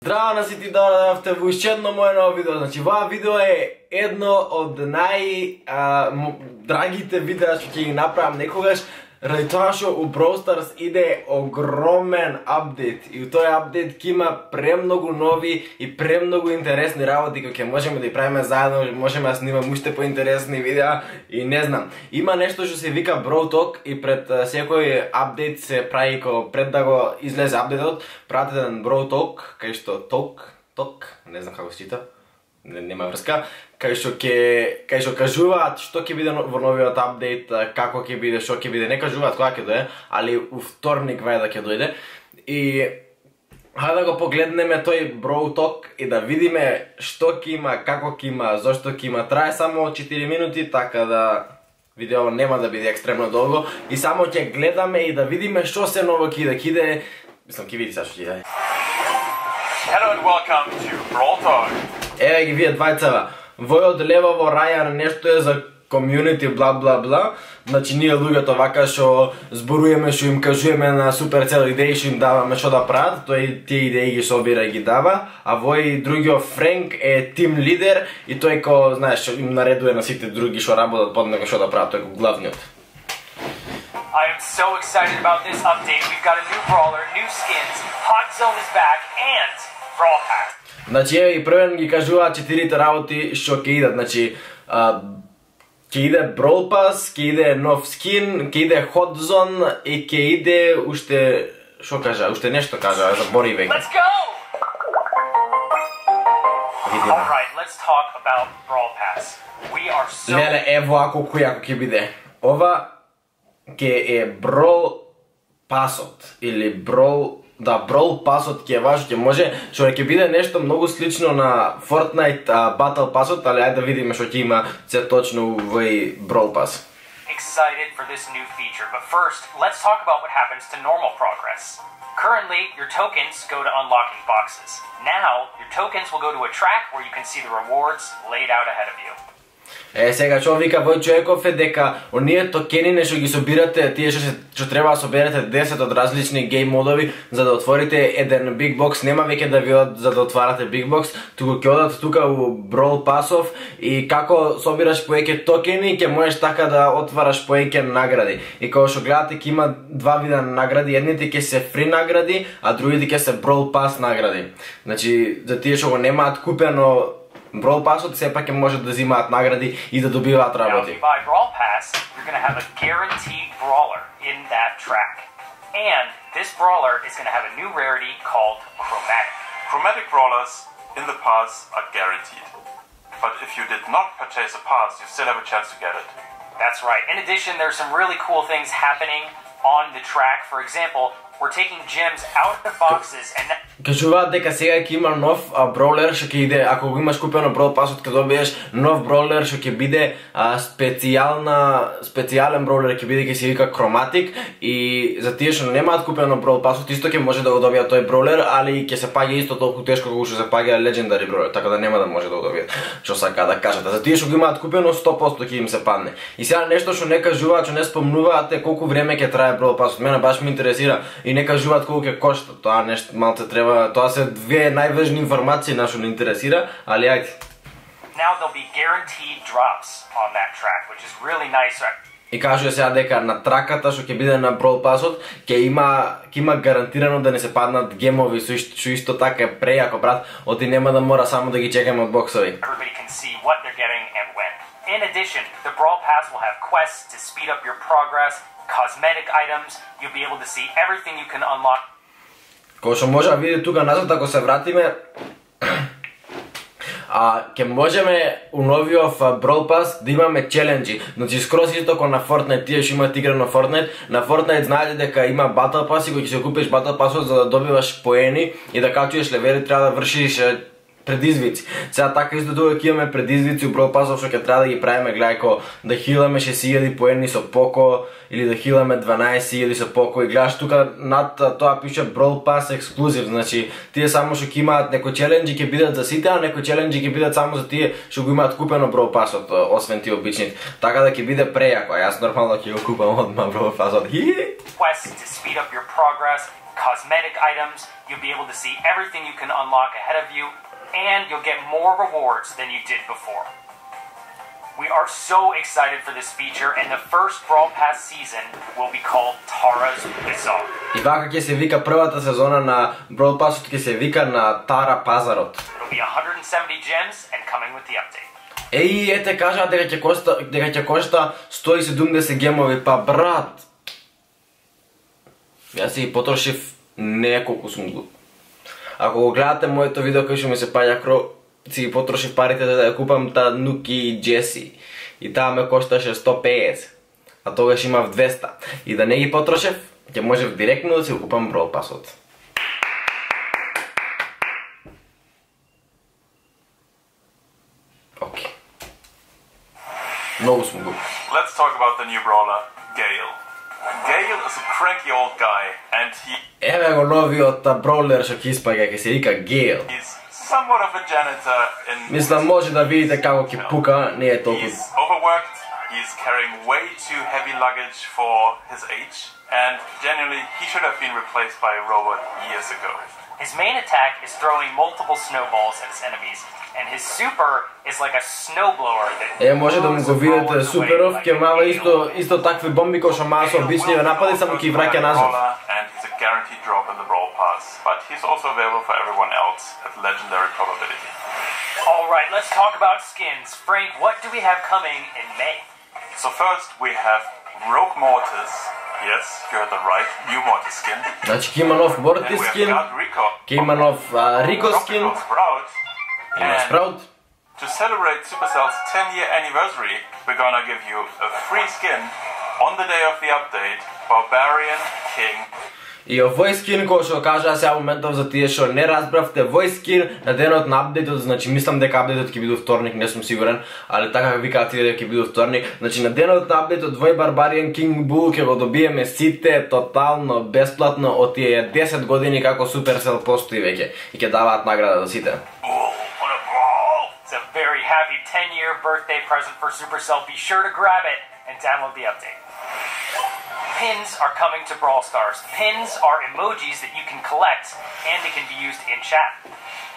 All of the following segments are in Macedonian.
Здраво на сите, дојдовте во уште едно моје ново видео. Значи, ова видео е едно од драгите видеа што ќе ги направам некогаш, ради тоа што у Brawl Stars иде огромен апдейт. И у тој апдейт ќе има премногу нови и премногу интересни работи кои ќе можеме да ги правиме заедно, можеме да снимаме уште поинтересни видеа и не знам. Има нешто што се вика Brawl Talk и пред секој апдейт се прави пред да го излезе апдейтот, прават еден Brawl Talk, кај што Talk, не знам како се чита. Нема врска, кај што кажуваат што ќе биде во новиот апдейт, како ќе биде, што ќе биде, не кажуваат кога ќе дојде, али у вторник вајда ќе дојде. И хајде да го погледнеме тој Brawl Talk и да видиме што ќе има, како ќе има, зошто ќе има. Трае само 4 минути, така да видео нема да биде екстремно долго и само ќе гледаме и да видиме што се ново ќе иде. Мислам ќе види сега што ќе иде. Hello and welcome to Brawl Talk. Еве ги вие двајцава. Вој од лево во рајар нешто е за комјунити бла бла бла. Значи ние луѓето вака што зборуеме, што им кажуваме на Supercell идеи, што им даваме што да прават, тој тие идеи ги собира и ги дава, а вој другиот Френк е тим лидер и тој ко, знаеш, им наредува на сите други што работат под него што да прават, тој е главниот. I am so excited about this update. We've got a new brawler, new skins, Hot Zone is back, and Brawl Pass. Значи, и првен ги кажуваат 4 работи што ќе идат. Значи, ќе иде Brawl Pass, ќе иде нов скин, ќе иде Hot Zone и ќе иде уште, што кажа, уште нешто кажа, забори веќе. Let's go! Alright, let's talk about Brawl Pass. We are so... Леле, ево ако ќе биде. Ова ќе е Brawl Passот или Brawl Passот ќе е важно, ќе може, што ќе биде нешто многу слично на Fortnite Battle Passот, али ајде да видиме што ќе има се точно во Brawl Pass. Excited for this new feature, but first, let's talk about what happens to normal progress. Currently, your tokens go to unlocking boxes. Now, your tokens will go to a track where you can see the rewards laid out ahead of you. Сега што вика Вој Човеков е дека оние токенine што ги собирате, тие што треба да соберете 10 од различни гейм модови за да отворите еден Big Box, нема веќе да ви одат за да отварате Big Box, туку ќе одат тука у Brawl Passов и како собираш поеќе токени, ќе можеш така да отвараш поеќе награди. И кога што гледате ќе има два вида награди, едните ќе се фри награди, а другите ќе се Brawl Pass награди. Значи, за тие што го немаат купено Brawl Passот сепак ќе можат да взимаат награди и да добиваат работи. Now, if you buy Brawl Pass, you're going to have a guaranteed brawler in that track. And this brawler is going to have a new rarity called Chromatic. Chromatic brawlers in the pass are guaranteed. But if you did not purchase a pass, you still have a chance to get it. That's right. In addition, there's some really cool things happening on the track. For example, we're taking gems out of boxes and кажуваат дека сега ќе има нов броулер што ќе иде, ако го имаш купено Brawl Passот, ќе добиеш нов броулер што ќе биде специјален броулер, ќе биде, ќе се вика Chromatic, и за тие што немаат купено Brawl Passот исто ќе може да го добијат тој броулер, али ќе се паѓа исто толку тешко колку што се паѓа Legendary броулер, така да нема да може да го добијат. Што сака да кажат. За тие што го имаат купено 100% ќе им се падне. И сега нешто што не кажуваат, што не спомнуваат е колку време ќе трае Brawl Passот. Мене баш ме интересира и не кажуваат колку ќе кошта. Тоа нешто малце треба. Тоа се две најважни информации на што не интересира, али ајде. Now there'll be guaranteed drops on that track, which is really nice. И кажува сега дека на траката што ќе биде на Brawl Passот ќе има гарантирано да не се паднат гемови што исто така е прејако, брат, оти нема да мора само да ги чекаме од боксови. Everybody can see what they're getting and when. In addition, the Brawl Pass will have quests to speed up your progress, cosmetic items, you'll be able to see everything you can unlock. Кој што може да види тука назад, ако се вратиме, ќе можеме у новиот Brawl Pass да имаме челенџи. Значи скроз исто како на Fortnite, тие што имаат игра на Fortnite. На Fortnite знаете дека има Battle Pass и кога ќе се купиш Battle Pass за да добиваш поени и да качуваш левели, треба да вршиш предизвици. Сега така исто тука ќе имаме предизвици у Brawl Passов што ќе треба да ги правиме, гледај ко да хиламе 6000 поени со Поко или да хиламе 12000 со Поко и гледаш тука над тоа пише Brawl Pass Exclusive, значи тие само што ќе имаат некои челенџи ќе бидат за сите, а некои челенџи ќе бидат само за тие што го имаат купено Brawl Passот, освен тие обичните. Така да ќе биде прејако, јас нормално ќе го купам одма Brawl Passот. Quests to speed up your progress, cosmetic items, you'll be able to see everything you can unlock ahead of you, and you'll get more rewards than you did before. We are so excited for this feature, and the first Brawl Pass season will be called Tara's Bazaar. И вака ќе се вика првата сезона на Brawl Passот, ќе се вика на Тара Пазарот. It'll be 170 gems and coming with the update. Еј, ете кажа дека ќе кошта 170 гемови, па брат. Јас си ги потрошив неколку сум глуп. Ако го гледате моето видео кај што ми се паѓа кро, си ги потрошив парите да ја купам та Нуки и Джеси. И таа ме кошташе 150. А тогаш имав 200. И да не ги потрошев, ќе можев директно да си го купам Brawl Passот. Окей. Многу сум глуп. Let's talk about the new brawler, Gale. Gale is a cranky old guy, and Еве го новиот броулер што ќе испаѓа, ќе се вика Gale. he's somewhat of a janitor in... Мислам може да видите како ќе пука, не е толку. He's overworked, he's carrying way too heavy luggage for his age, and genuinely, he should have been replaced by a robot years ago. His main attack is throwing multiple snowballs at his enemies, and his super is like a snowblower that Може да му го видите суперов, ќе мава исто такви бомби кои што маа со обични напади, само ќе враќа назад. And he's a guaranteed drop in the Brawl Pass, but he's also available for everyone else at legendary probability. Alright, let's talk about skins. Frank, what do we have coming in May? So first we have Rogue Mortis. Yes, you heard that right. New Mortis skin. Значи ќе има нов Mortis Then we have скин, got Rico. ќе има нов Rico скин, Tropical Sprout. има And Sprout. to celebrate Supercell's 10-year anniversary, we're gonna give you a free skin on the day of the update, Barbarian King. И овој скин кој што кажа сега моментов за тие што не разбравте, овој скин на денот на апдейтот, значи мислам дека апдейтот ќе биде вторник, не сум сигурен, али така викаат тие дека ќе биде вторник. Значи на денот на апдейтот овој Barbarian King Bull ќе го добиеме сите тотално бесплатно од тие 10 години како Supercell постои веќе и ќе даваат награда за сите. Bull, what a brawl! It's a very happy 10-year birthday present for Supercell. Be sure to grab it and download the update. Pins are coming to Brawl Stars. Pins are emojis that you can collect and they can be used in chat.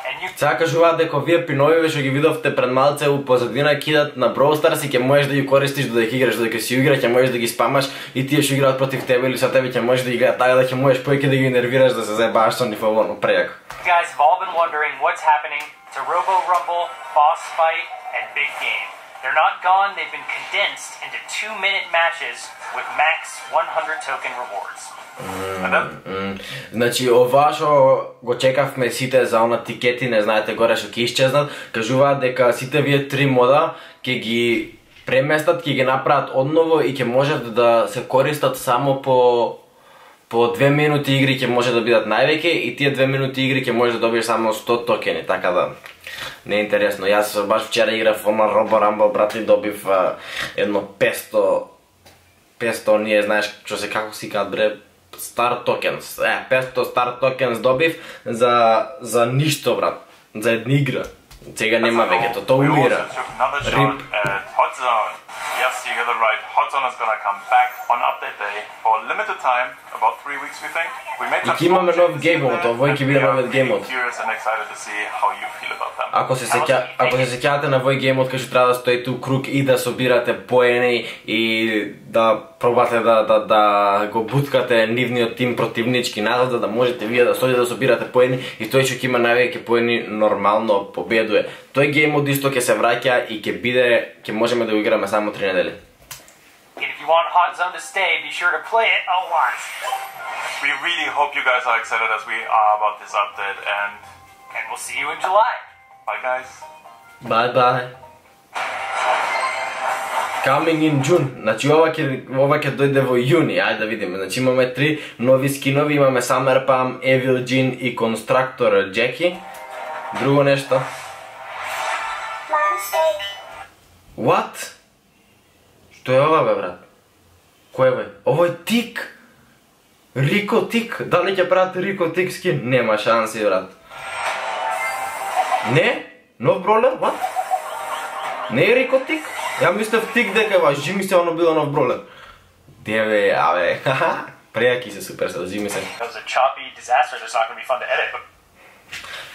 And you Сега кажуваат дека овие пиновиве што ги видовте пред малце у позадина кидат на Brawl Stars и ќе можеш да ги користиш додека играш, додека си игра, ќе можеш да ги спамаш и тие што играат против тебе или со тебе ќе можеш да играат така да ќе можеш повеќе да ги нервираш да се заебаваш со нив овоно прејако. You guys have all been wondering what's happening to Robo Rumble, Boss Fight, and Big Game. They're not gone, they've been condensed into 2-minute matches with max 100 token rewards. And then Значи ова што го чекавме сите за она тикети, не знаете горе што ќе исчезнат, кажуваат дека сите вие три мода ќе ги преместат, ќе ги направат одново и ќе можат да се користат само по 2 минути игри ќе може да бидат највеќе и тие 2 минути игри ќе можеш да добиеш само 100 токени, така да не е интересно. Јас баш вчера играв на Robo Rumble, брат, и добив едно 500 ние знаеш што се како си кажат бре, Star Tokens. 500 Star Tokens добив за ништо, брат. За една игра. Сега нема веќе, тоа we also умира. took another shot Rip. at Hot Zone. Yes, you heard it right. Hot Zone is gonna come back on update day for a limited time, about 3 weeks we think. We made И some ќе имаме small нов changes game in mode, there, овој ќе and биде we are новиот game really mode. curious and excited to see how you feel about them. Ако се сеќавате на овој геймот кај што треба да стоите у круг и да собирате поени и да пробате да го буткате нивниот тим противнички назад, за да можете вие да стоите да собирате поени и тој што ќе има највеќе поени нормално победува. Тој геймот исто ќе се враќа и ќе можеме да го играме само 3 недели. And if you want Hot Zone to stay, be sure to play it a lot. We really hope you guys are excited as we are about this update, and And we'll see you in July. bye guys. Bye bye. Coming in June. Значи ова ќе дојде во јуни, ајде да видиме. Значи имаме 3 нови скинови, имаме Summer Pam, Evil Jean и Constructor Jackie. Друго нешто. What? Што е ова бе, брат? Кој бе? Ово е Тик. Рико Тик. Дали ќе прават Рико Тик скин? Нема шанси, брат. Не? Нов бролер? What? Не е Рико Тик? Ја мислев Тик дека ва Жими се оно било нов бролер. Деве, абе, Прејаки се Supercell, зими се. It was a choppy disaster that's not going to be fun to edit, but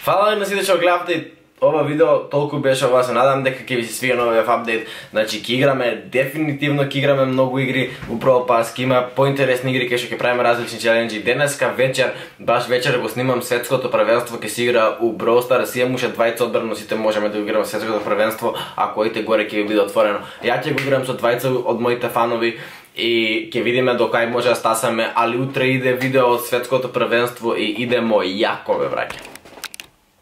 Фала ви на сите што гледавте ова видео, толку беше ова, се надам дека ќе ви се свија новиот апдейт. Значи ќе играме, дефинитивно ќе играме многу игри, управо пас ќе има поинтересни игри кај што ќе правиме различни челенџи. Денеска вечер, баш вечер го снимам светското првенство, ќе се игра у Brawl Stars, имам уште 20 одбрано, сите можеме да го играме светското првенство, ако оите горе ќе ви биде отворено. Ја ќе го играм со 20 од моите фанови и ќе видиме до кај може да стасаме, али утре иде видео од светското првенство и идемо јако бе браќа.